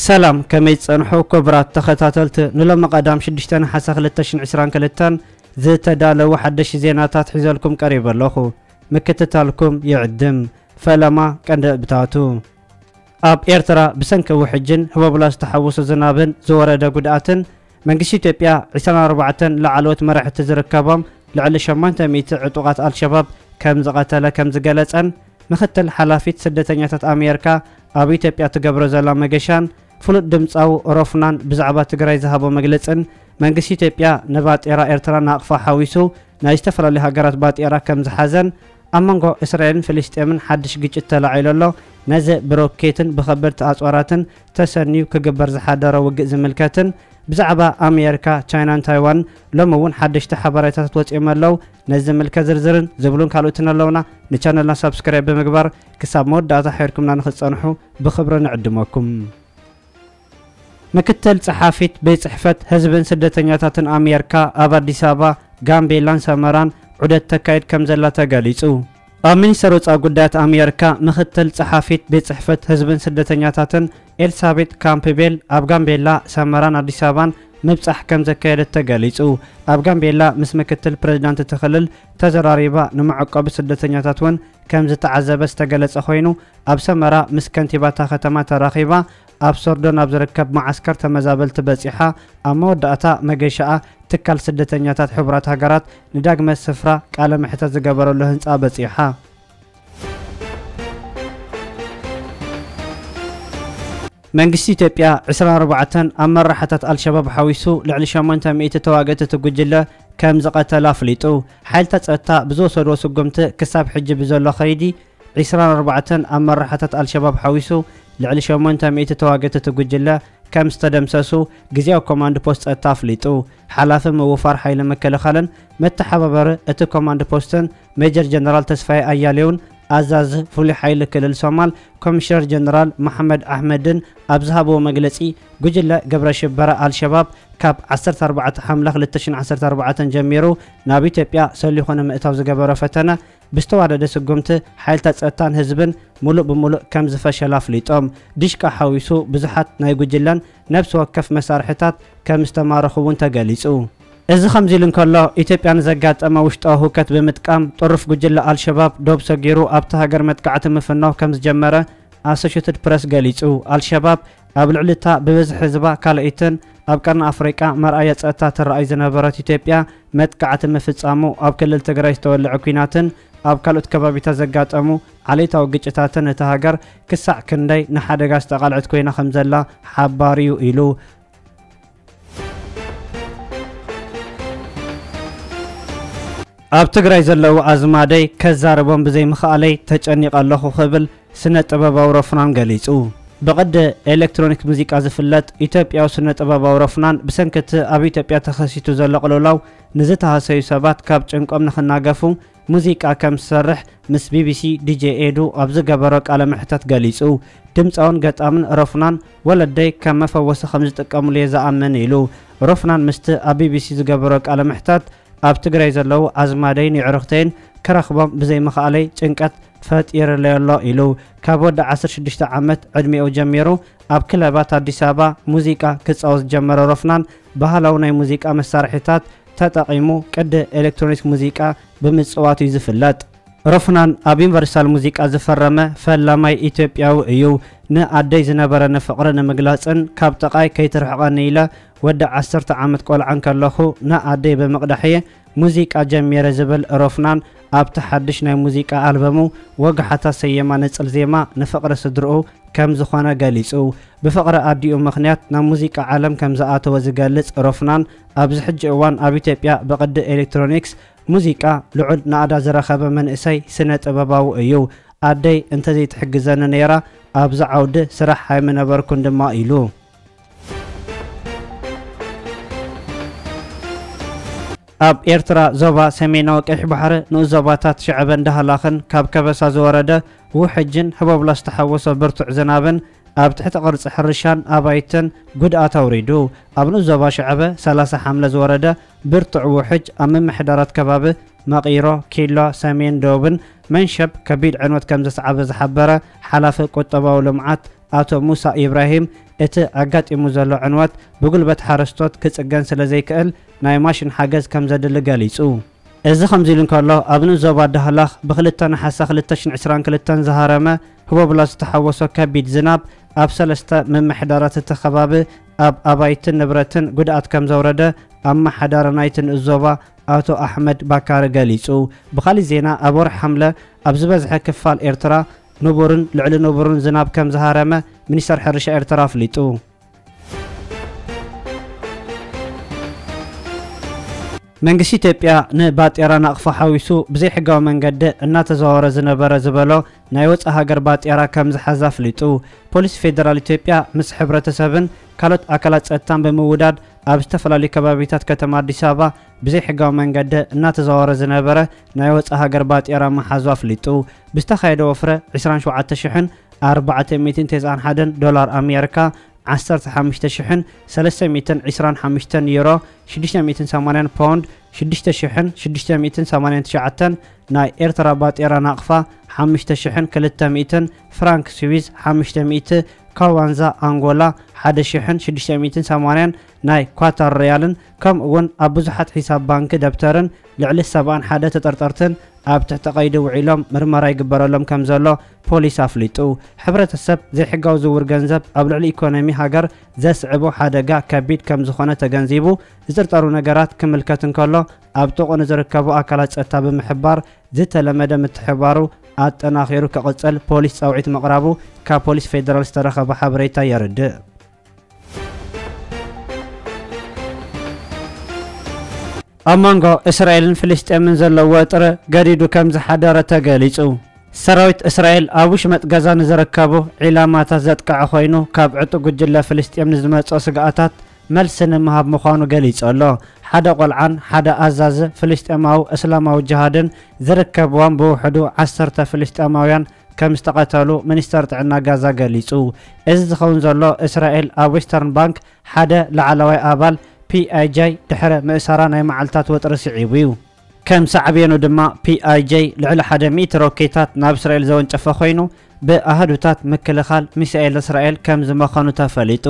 ሰላም፣ ከመይ ጸንሑ ክቡራት ተኸታተልቲ? ንሎሚ ቀዳም ሽዱሽተ ነሓሰ ክልተ ሽሕን ዕስራን ክልተን ዝተዳለዉ ሓደሽቲ ዜናታት ሒዘልኩም ቀሪበ ኣለኹ። ምክትታልኩም ይዕድም። ፈለማ ቀንዲ እብታቱ። ኣብ ኤርትራ ብሰንኪ ውሕጅን ህቦብላ ዝተሓወሶ ዝናብን ዝወረደ ጉድኣትን መንግስቲ ኢትዮጵያ ዕስራን ኣርባዕተን ላዕለዎት መራሕቲ ዝርከቦም ልዕሊ ሸሞንተ ሚእቲ ዕጡቓት ኣልሸባብ ከም ዝቐተለ ከም ዝገለጸን ምክትል ሓላፊት ስደተኛታት ኣሜሪካ ኣብ ኢትዮጵያ ትገብሮ ዘላ መገሻን ፍሉጥ ድምጻዊ ሮፍናን ብዛዕባ ትግራይ ዝሃቦ መግለጽን መንግስቲ ኢትዮጵያ ንባጤራ ኤርትራ ናቕፋ ሓዊሱ ናይ ዝተፈላለዩ ሃገራት ባጤራ ከም ዝሓዘን ኣብ መንጎ እስራኤልን ፍልስጤምን ሓድሽ ግጭት ተላዒሉ ኣሎ። ነዚ ብሮኬትን ብኸበድቲ ኣጽዋራትን ተሰንዩ ክግበር ዝሓደረ ውግእ ዝምልከትን ብዛዕባ ኣሜሪካ፣ ቻይናን ታይዋን ሎሚ እውን ሓደሽቲ ሓበሬታታት ወፂኦም ኣለዉ። ነዚ ዝምልከት ዝርዝርን ዝብሉን ካልኦትን ኣለውና። ንቻነልና ሳብስክራይብ ብምግባር ክሳብ መወዳእታ ሒርኩምና ንክትጸንሑ ብኽብሪ ንዕድመኩም። ምክትል ጸሓፊት ቤት ጽሕፈት ህዝብን ስደተኛታትን ኣሜሪካ ኣብ ኣዲስ ኣበባ፣ ጋምቤላን ሰመራን ዑደት ተካይድ ከም ዘላ ተገሊጹ። ኣብ ሚኒስተር ወጻኢ ጉዳያት ኣሜሪካ ምክትል ጸሓፊት ቤት ጽሕፈት ህዝብን ስደተኛታትን ኤልሳቤጥ ካምፕቤል ኣብ ጋምቤላ፣ ሰመራን ኣዲስ ኣበባን ምብጻሕ ከም ዘካየደት ተገሊጹ። ኣብ ጋምቤላ ምስ ምክትል ፕሬዚዳንት እቲ ክልል ተዘራሪባ፣ ንመዕቆቢ ስደተኛታት እውን ከም ዝተዓዘበ ዝተገለጸ ኮይኑ፣ ኣብ ሰመራ ምስ ከንቲባ እታ ከተማ ተራኺባ፣ ኣብ ሶርዶ ናብ ዝርከብ መዓስከር ተመዛበልቲ በጺሓ፣ ኣብ መወዳእታ መገሻኣ ትካል ስደተኛታት ሕቡራት ሃገራት ንዳግመ ስፍራ ቃለ መሕተት ዝገበረሉ ህንጻ በጺሓ። መንግስቲ ኢትዮጵያ ዕስራን ኣርባዕተን ኣመራሕታት ኣልሸባብ ሓዊሱ ልዕሊ ሸሞንተ ሚእቲ ተዋግእቲ እቲ ጉጅለ ከም ዝቐተለ ኣፍሊጡ። ሓይልታት ጸጥታ ብዝወሰድዎ ስጉምቲ ክሳብ ሕጂ ብዘሎ ከይዲ ዕስራን ኣርባዕተን ኣመራሕታት ኣልሸባብ ሓዊሱ ልዕሊ ሸሞንተ ሚእቲ ተዋግእቲ እቲ ጉጅለ ከም ዝተደምሰሱ ግዝያዊ ኮማንድ ፖስት ጸጥታ ኣፍሊጡ። ሓላፊ ምውፋር ሓይሊ ምክልኻልን መተሓባበሪ እቲ ኮማንድ ፖስትን ሜጀር ጀነራል ተስፋዬ ኣያሌውን ኣዛዚ ፍሉይ ሓይሊ ክልል ሶማል ኮሚሽነር ጀነራል መሓመድ ኣሕመድን ኣብ ዝሃብዎ መግለጺ፣ ጉጅለ ግብረ ሽበራ ኣልሸባብ ካብ ዓሰርተ ኣርባዕተ ሓምለ ክልተ ሽሕን ዓሰርተ ኣርባዕተን ጀሚሩ ናብ ኢትዮጵያ ሰሊኹ ንምእታው ዝገበሮ ፈተነ ብዝተዋደደ ስጉምቲ ሓይልታት ጸጥታን ህዝብን ሙሉእ ብሙሉእ ከም ዝፈሸለ ኣፍሊጦም። ዲሽቃ ሓዊሱ ብዙሓት ናይ ጉጅለን ነብሲ ወከፍ መሳርሕታት ከም ዝተማረኹ እውን ተገሊጹ። እዚ ከምዚ ኢሉ እንከሎ፣ ኢትዮጵያ ንዘጋጠመ ውሽጣዊ ህውከት ብምጥቃም ጥሩፍ ጉጅለ ኣልሸባብ ዶብ ሰጊሩ ኣብታ ሃገር መጥቃዕቲ ምፍናው ከም ዝጀመረ ኣሶሼትድ ፕረስ ገሊጹ። ኣልሸባብ ኣብ ልዕሊ እታ ብብዝሒ ህዝባ ካልኣይትን ኣብ ቀርኒ ኣፍሪቃ መርኣያ ጸጥታ ትረኣይ ዝነበረት ኢትዮጵያ መጥቃዕቲ ምፍጻሙ፣ ኣብ ክልል ትግራይ ዝተወልዐ ኲናትን ኣብ ካልኦት ከባቢታት ዘጋጠሙ ዓሌታዊ ግጭታትን እታ ሃገር ክሳዕ ክንደይ ንሓደጋ ዝተቓልዐት ኮይና ከም ዘላ ሓባር እዩ ኢሉ። ኣብ ትግራይ ዘለዉ ኣዝማደይ ከዛርቦም ብዘይምኽኣለይ ተጨኒቐ ኣለኹ ክብል ስነ ጥበባዊ ሮፍናን ገሊጹ። ብቕዲ ኤሌክትሮኒክ ሙዚቃ ዝፍለጥ ኢትዮጵያዊ ስነ ጥበባዊ ሮፍናን ብሰንኪ እቲ ኣብ ኢትዮጵያ ተኸሲቱ ዘሎ ቅልውላው ንዝተሃሰዩ ሰባት ካብ ጭንቆም ንኽናገፉ ሙዚቃ ከም ዝሰርሕ ምስ ቢቢሲ ዲጄ ኤዱ ኣብ ዝገበሮ ቃለ መሕተት ገሊጹ። ድምፃውን ገጣምን ሮፍናን ወለደይ ከም መፈወሲ ከም ዝጥቀምሉ እየ ዝኣምን ኢሉ። ሮፍናን ምስቲ ኣብ ቢቢሲ ዝገበሮ ቃለ መሕተት ኣብ ትግራይ ዘለዉ ኣዝማደይን የዕሩኽተይን ክረኽቦም ብዘይምኽኣለይ ጭንቀት ፈጢርለይ ኣሎ ኢሉ። ካብ ወዲ ዓሰርተ ሽዱሽተ ዓመት ዕድሚኡ ጀሚሩ ኣብ ክለባት ኣዲስ ኣበባ ሙዚቃ ክጻወት ዝጀመረ ሮፍናን ባህላዊ ናይ ሙዚቃ መሳርሒታት ተጠቒሙ ቅዲ ኤሌክትሮኒክስ ሙዚቃ ብምጽዋት እዩ ዝፍለጥ። ሮፍናን ኣብ ዩኒቨርሳል ሙዚቃ ዝፈረመ ፈላማይ ኢትዮጵያዊ እዩ። ንኣደይ ዝነበረኒ ፍቕሪ ንምግላጽን ካብ ጥቓይ ከይትርሕቐኒ ኢለ ወዲ ዓሰርተ ዓመት ቆልዓ እንከለኹ ንኣደይ ብምቕዳሕ እየ ሙዚቃ ጀሚረ ዝብል ሮፍናን ኣብቲ ሓድሽ ናይ ሙዚቃ ኣልበሙ ወግሓታ ሰየማ ንጽል ዜማ ንፍቕሪ ስድርኡ ከም ዝኾነ ገሊጹ። ብፍቕሪ ኣዲኡ ምኽንያት ናብ ሙዚቃ ዓለም ከም ዝኣተወ ዝገልጽ ሮፍናን ኣብዚ ሕጂ እዋን ኣብ ኢትዮጵያ ብቕዲ ኤሌክትሮኒክስ ሙዚቃ ልዑል ናእዳ ዝረኸበ መንእሰይ ስነ ጥበባዊ እዩ። ኣደይ እንተዘይትሕግዘኒ ነይራ ኣብዚ ዓውዲ ስራሕ ኣይምነበርኩን ድማ ኢሉ። ኣብ ኤርትራ ዞባ ሰሜናዊ ቀይሕ ባሕሪ ንኡስ ዞባታት ሽዕበን ዳህላኽን ካብ ከበሳ ዝወረደ ውሕጅን ህቦብላ ዝተሓወሶ ብርቱዕ ዝናብን ኣብ ትሕቲ ቅርጺ ሕርሻን ኣባይትን ጉድኣት ኣውሪዱ። ኣብ ንኡስ ዞባ ሽዕበ ሰላሳ ሓምለ ዝወረደ ብርቱዕ ውሕጅ ኣብ ምምሕዳራት ከባቢ መቒሮ፣ ኪሎ፣ ሰሜን፣ ደቡብን መንሸብ ከቢድ ዕንወት ከም ዘስዓበ ዝሓበረ ሓላፊ ቁጠባዊ ልምዓት ኣቶ ሙሳ ኢብራሂም፣ እቲ ኣጋጢሙ ዘሎ ዕንወት ብጉልበት ሓረስቶት ክጽገን ስለ ዘይክእል ናይ ማሽን ሓገዝ ከም ዘድሊ ገሊጹ። እዚ ከምዚ ኢሉ እንከሎ፣ ኣብ ንኡስ ዞባ ዳህላክ ብ ክልተ ነሓሰ ክልተ ሽሕን ዕስራን ክልተን ዝሃረመ ህቦብላ ዝተሓወሶ ከቢድ ዝናብ ኣብ ሰለስተ ምምሕዳራት እቲ ከባቢ ኣብ ኣባይትን ንብረትን ጉድኣት ከም ዘውረደ ኣመሓዳሪ ናይቲ ንኡስ ዞባ ኣቶ ኣሕመድ ባካሪ ገሊጹ። ብኻሊእ ዜና፣ ኣብ ወርሒ ሓምለ ኣብ ዝበዝሐ ክፋል ኤርትራ ንቡርን ልዕሊ ንቡርን ዝናብ ከም ዝሃረመ ሚኒስተር ሕርሻ ኤርትራ ኣፍሊጡ። መንግስቲ ኢትዮጵያ ንባጤራ ናቕፋ ሓዊሱ ብዘይሕጋዊ መንገዲ እናተዘዋወረ ዝነበረ ዝበሎ ናይ ወጻኢ ሃገር ባጤራ ከም ዝሓዘ ኣፍሊጡ። ፖሊስ ፌደራል ኢትዮጵያ ምስ ሕብረተሰብን ካልኦት ኣካላት ጸጥታን ብምውዳድ ኣብ ዝተፈላለዩ ከባቢታት ከተማ ኣዲስ ኣበባ ብዘይሕጋዊ መንገዲ እናተዘዋወረ ዝነበረ ናይ ወጻኢ ሃገር ባጤራ ምሓዙ ኣፍሊጡ። ብዝተኻየደ ወፍረ ዕስራን ሸውዓተ ሽሕን ኣርባዕተ ሚእትን ተስዓን ሓደን ዶላር ኣሜሪካ፣ ዓሰርተ ሓሙሽተ ሽሕን ሰለስተ ሚእትን ዕስራን ሓሙሽተን ዩሮ፣ ሽዱሽተ ሚእትን ሰማንያን ፓውንድ፣ ሽዱሽተ ሽሕን ሽዱሽተ ሚእትን ሰማንያን ትሽዓተን ናይ ኤርትራ ባጤራ ናቕፋ፣ ሓሙሽተ ሽሕን ክልተ ሚእትን ፍራንክ ስዊዝ፣ ሓሙሽተ ሚእቲ ካዋንዛ ኣንጎላ፣ ሓደ ሽሕን ሽዱሽተ ሚእትን ሰማንያን ናይ ኳታር ሪያልን፣ ከምኡ እውን ኣብ ብዙሓት ሒሳብ ባንኪ ደብተርን ልዕሊ ሰብዓን ሓደ ተጠርጠርትን ኣብ ትሕቲ ቀይዲ ውዒሎም ምርመራ ይግበረሎም ከም ዘሎ ፖሊስ ኣፍሊጡ። ሕብረተሰብ ዘይሕጋዊ ዝውውር ገንዘብ ኣብ ልዕሊ ኢኮኖሚ ሃገር ዘስዕቦ ሓደጋ ከቢድ ከም ዝኾነ ተገንዚቡ፣ ዝጥርጠሩ ነገራት ክምልከት እንከሎ ኣብ ጥቕኡ ንዝርከቡ ኣካላት ጸጥታ ብምሕባር ዝተለመደ ምትሕባሩ ኣጠናኺሩ ክቕጽል ፖሊስ ጻውዒት ምቕራቡ ካብ ፖሊስ ፌደራል ዝተረኸበ ሓበሬታ የርድእ። ኣብ መንጎ እስራኤልን ፍልስጤምን ዘሎ ወጥሪ ገዲዱ ከም ዝሓደረ ተገሊጹ። ሰራዊት እስራኤል ኣብ ውሽመጥ ጋዛ ንዝርከቡ ዒላማታት ዘጥቅዐ ኮይኑ፣ ካብ ዕጡቕ ጉጅለ ፍልስጤም ንዝመጽኦ ስግኣታት መልሲ ንምሃብ ምዃኑ ገሊጹ ኣሎ። ሓደ ቆልዓን ሓደ ኣዛዚ ፍልስጤማዊ እስላማዊ ጅሃድን ዝርከብዎም ብውሕዱ ዓሰርተ ፍልስጤማውያን ከም ዝተቐተሉ ሚኒስተር ጥዕና ጋዛ ገሊጹ። እዚ ዝኸውን ዘሎ፣ እስራኤል ኣብ ዌስተርን ባንክ ሓደ ላዕለዋይ ኣባል ፒ ኣይ ጄ ድሕሪ ምእሳራ ናይ መዓልታት ወጥሪ ስዒቡ እዩ። ከም ሳዕቤኑ ድማ፣ ፒ ኣይ ጄ ልዕሊ ሓደ ሚእቲ ሮኬታት ናብ እስራኤል ዘወንጨፈ ኮይኑ፣ ብኣሃዱታት ምክልኻል ሚሳኤል እስራኤል ከም ዝመኸኑ ተፈሊጡ።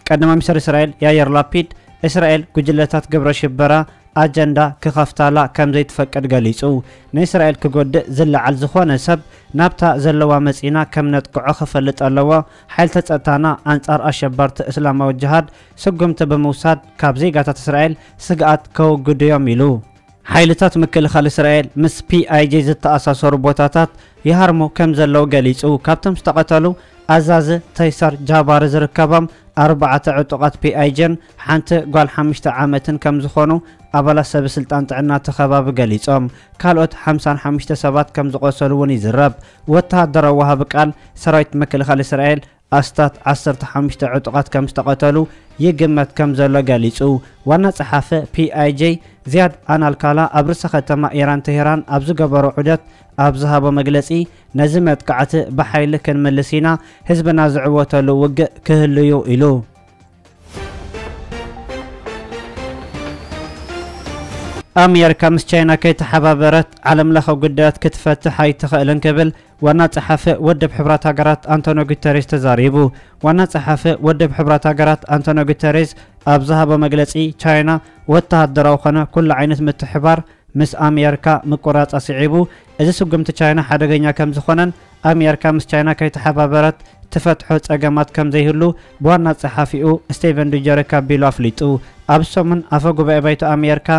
ቀዳማይ ሚኒስተር እስራኤል ያየር ላፒድ፣ እስራኤል ጉጅለታት ግብረ ሽበራ ኣጀንዳ ክኸፍታላ ከም ዘይትፈቅድ ገሊጹ። ንእስራኤል ክጎድእ ዝለዓል ዝኾነ ሰብ ናብታ ዘለዋ መጺና ከም ነጥቅዖ ክፈልጥ ኣለዎ። ሓይልታት ጸጥታና ኣንጻር ኣሸበርቲ እስላማዊ ጅሃድ ስጉምቲ ብምውሳድ ካብ ዜጋታት እስራኤል ስግኣት ከወግዱ እዮም ኢሉ። ሓይልታት ምክልኻል እስራኤል ምስ ፒ ኣይ ጄ ዝተኣሳሰሩ ቦታታት ይሃርሙ ከም ዘለዉ ገሊጹ። ካብቶም ዝተቐተሉ ኣዛዚ ተይሰር ጃባሪ ዝርከቦም ኣርባዕተ ዕጡቓት ፒ ኣይ ጄን ሓንቲ ጓል ሓሙሽተ ዓመትን ከም ዝኾኑ ኣባላት ሰበ ስልጣን ጥዕና እቲ ከባቢ ገሊጾም። ካልኦት ሓምሳን ሓሙሽተ ሰባት ከም ዝቖሰሉ እውን ይዝረብ። ወተሃደራዊ ወሃቢ ቃል ሰራዊት ምክልኻል እስራኤል ኣስታት ዓሰርተ ሓሙሽተ ዕጡቓት ከም ዝተቐተሉ ይግመት ከም ዘሎ ገሊጹ። ዋና ጸሓፊ ፒ ኣይ ጄ ዚያድ ኣናልካላ ኣብ ርእሰ ከተማ ኢራን ተሄራን ኣብ ዝገበሮ ዑደት ኣብ ዝሃቦ መግለጺ፣ ነዚ መጥቃዕቲ ብሓይሊ ክንምልስ ኢና፣ ህዝብና ዝዕወተሉ ውግእ ክህሉ እዩ ኢሉ። ኣሜሪካ ምስ ቻይና ከይተሓባበረት ዓለምለኸ ጉዳያት ክትፈትሕ ኣይትኽእልን ክብል ዋና ጸሓፊ ውድብ ሕቡራት ሃገራት ኣንቶኒዮ ጉተሬዝ ተዛሪቡ። ዋና ጸሓፊ ውድብ ሕቡራት ሃገራት ኣንቶኒዮ ጉተሬዝ ኣብ ዝሃቦ መግለጺ፣ ቻይና ወተሃደራዊ ኮነ ኩሉ ዓይነት ምትሕባር ምስ ኣሜሪካ ምቁራጻ ስዒቡ፣ እዚ ስጉምቲ ቻይና ሓደገኛ ከም ዝኾነን ኣሜሪካ ምስ ቻይና ከይተሓባበረት ትፈትሖ ጸገማት ከም ዘይህሉ ብዋና ጸሓፊኡ ስቴቨን ዱጀሪክ ኣቢሉ ኣፍሊጡ። ኣብ ሰሙን ኣፈ ጉባኤ ባይቶ ኣሜሪካ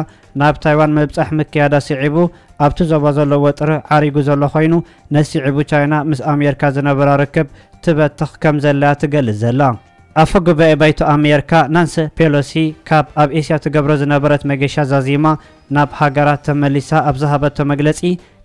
ናብ ታይዋን ምብጻሕ ምክያዳ ስዒቡ፣ ኣብቲ ዞባ ዘሎ ወጥሪ ዓሪጉ ዘሎ ኮይኑ፣ ነዚ ስዒቡ ቻይና ምስ ኣሜሪካ ዝነበራ ርክብ ትበትኽ ከም ዘላያ ትገልጽ ዘላ። ኣፈ ጉባኤ ባይቶ ኣሜሪካ ናንሲ ፔሎሲ ካብ ኣብ ኤስያ ትገብሮ ዝነበረት መገሻ ዛዚማ ናብ ሃገራ ተመሊሳ ኣብ ዝሃበቶ መግለጺ፣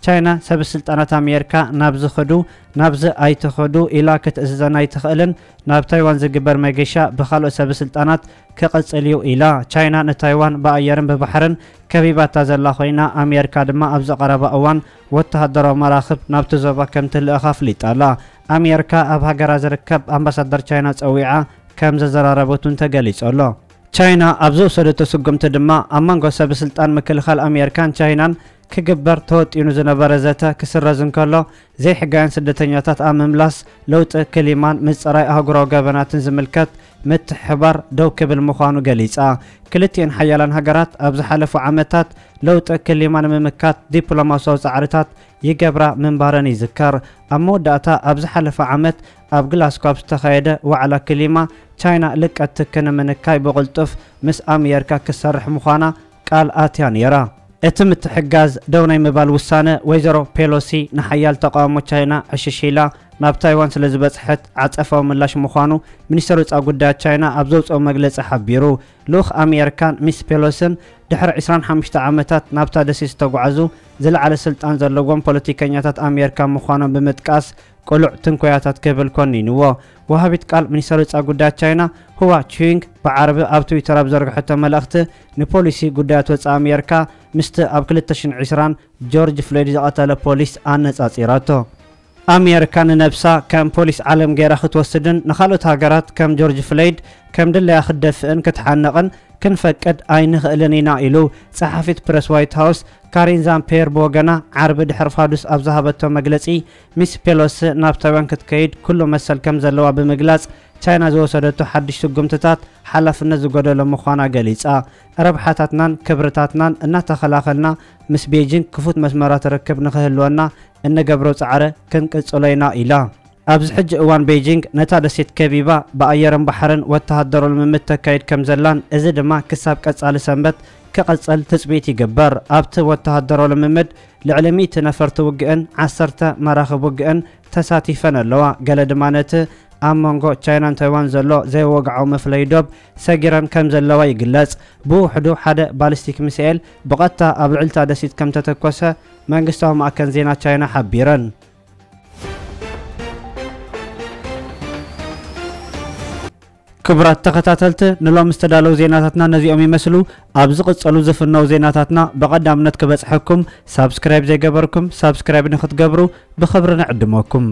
ቻይና ሰበ ስልጣናት ኣሜሪካ ናብዚ ክዱ፣ ናብዚ ኣይትኽዱ ኢላ ክትእዝዘን ኣይትኽእልን፣ ናብ ታይዋን ዝግበር መገሻ ብኻልኦት ሰበ ስልጣናት ክቕጽል እዩ ኢላ። ቻይና ንታይዋን ብኣየርን ብባሕርን ከቢባታ ዘላ ኮይና፣ ኣሜሪካ ድማ ኣብዚ ቀረባ እዋን ወተሃደራዊ መራኽብ ናብቲ ዞባ ከም ትልእኽ ኣፍሊጣ ኣላ። ኣሜሪካ ኣብ ሃገራ ዝርከብ ኣምባሳደር ቻይና ጸዊዓ ከም ዘዘራረበት እውን ተገሊጹ ኣሎ። ቻይና ኣብ ዝወሰደቶ ስጉምቲ ድማ፣ ኣብ መንጎ ሰበ ስልጣን ምክልኻል ኣሜሪካን ቻይናን ክግበር ተወጢኑ ዝነበረ ዘተ ክስረዝ እንከሎ፣ ዘይሕጋውያን ስደተኛታት ኣብ ምምላስ፣ ለውጢ ክሊማን ምጽራይ ኣህጉራዊ ገበናትን ዝምልከት ምትሕባር ደው ክብል ምዃኑ ገሊጻ። ክልቲኤን ሓያላን ሃገራት ኣብ ዝሓለፉ ዓመታት ለውጢ ክሊማ ንምምካት ዲፕሎማሲያዊ ጻዕርታት ይገብራ ምንባረን ይዝከር። ኣብ መወዳእታ ኣብ ዝሓለፈ ዓመት ኣብ ግላስኮ ኣብ ዝተኻየደ ዋዕላ ክሊማ፣ ቻይና ልቀት ትኪ ንምንካይ ብቕልጡፍ ምስ ኣሜሪካ ክትሰርሕ ምዃና ቃል ኣትያ ነይራ። እቲ ምትሕግጋዝ ደው ናይ ምባል ውሳነ ወይዘሮ ፔሎሲ ንሓያል ተቓውሞ ቻይና ዕሽሽ ኢላ ናብ ታይዋን ስለ ዝበጽሐት ዓጸፋዊ ምላሽ ምዃኑ ሚኒስተር ወጻኢ ጉዳያት ቻይና ኣብ ዘውጽኦ መግለጺ ሓቢሩ። ልኡኽ ኣሜሪካን ሚስ ፔሎስን ድሕሪ ዕስራን ሓሙሽተ ዓመታት ናብታ ደሴት ዝተጓዕዙ ዝለዓለ ስልጣን ዘለዎም ፖለቲከኛታት ኣሜሪካ ምዃኖም ብምጥቃስ ቅሉዕ ትንኮያታት ክብል ኮኒንዎ። ወሃቢት ቃል ሚኒስተር ወጻኢ ጉዳያት ቻይና ሁዋ ቹይንግ ብዓርቢ ኣብ ትዊተር ኣብ ዘርግሐቶ መልእኽቲ ንፖሊሲ ጉዳያት ወጻኢ ኣሜሪካ ምስቲ ኣብ ክልተ ሽሕን ዕስራን ጆርጅ ፍሎይድ ዝቐተለ ፖሊስ ኣነጻጺራቶ። ኣሜሪካ ንነብሳ ከም ፖሊስ ዓለም ገይራ ክትወስድን ንኻልኦት ሃገራት ከም ጆርጅ ፍሎይድ ከም ድለያ ክትደፍእን ክትሓንቕን ክንፈቅድ ኣይንኽእልን ኢና ኢሉ። ጸሓፊት ፕረስ ዋይት ሃውስ ካሪን ዛምፔር ብወገና ዓርቢ ድሕሪ ፋዱስ ኣብ ዝሃበቶ መግለጺ፣ ሚስ ፔሎሲ ናብ ታይዋን ክትከይድ ኩሉ መሰል ከም ዘለዋ ብምግላጽ፣ ቻይና ዝወሰደቶ ሓድሽ ስጉምትታት ሓላፍነት ዝጎደሎ ምዃና ገሊጻ። ረብሓታትናን ክብርታትናን እናተኸላኸልና ምስ ቤጂንግ ክፉት መስመራት ርክብ ንኽህልወና እንገብሮ ጻዕሪ ክንቅጽሎ ኢና ኢላ። ኣብዚ ሕጂ እዋን ቤጂንግ ነታ ደሴት ከቢባ ብኣየርን ባሕርን ወተሃደራዊ ልምምድ ተካይድ ከም ዘላን እዚ ድማ ክሳብ ቀጻሊ ሰንበት ክቕጽል ትጽቢት ይግበር። ኣብቲ ወተሃደራዊ ልምምድ ልዕሊ ሚእቲ ነፈርቲ ውግእን ዓሰርተ መራኽብ ውግእን ተሳቲፈን ኣለዋ። ገለ ድማ ነቲ ኣብ መንጎ ቻይናን ታይዋን ዘሎ ዘይወግዓዊ መፍለዪ ዶብ ሰጊረን ከም ዘለዋ ይግለጽ። ብውሕዱ ሓደ ባሊስቲክ ሚሳኤል ብቐጥታ ኣብ ልዕሊ እታ ደሴት ከም ተተኮሰ መንግስታዊ ማዕከን ዜና ቻይና ሓቢረን። ክቡራት ተኸታተልቲ፣ ንሎሚ ዝተዳለዉ ዜናታትና ነዚኦም ይመስሉ። ኣብ ዝቕጸሉ ዝፍነው ዜናታትና ብቐዳምነት ክበጽሐኩም ሳብስክራይብ ዘይገበርኩም ሳብስክራይብ ንክትገብሩ ብኽብሪ ንዕድመኩም።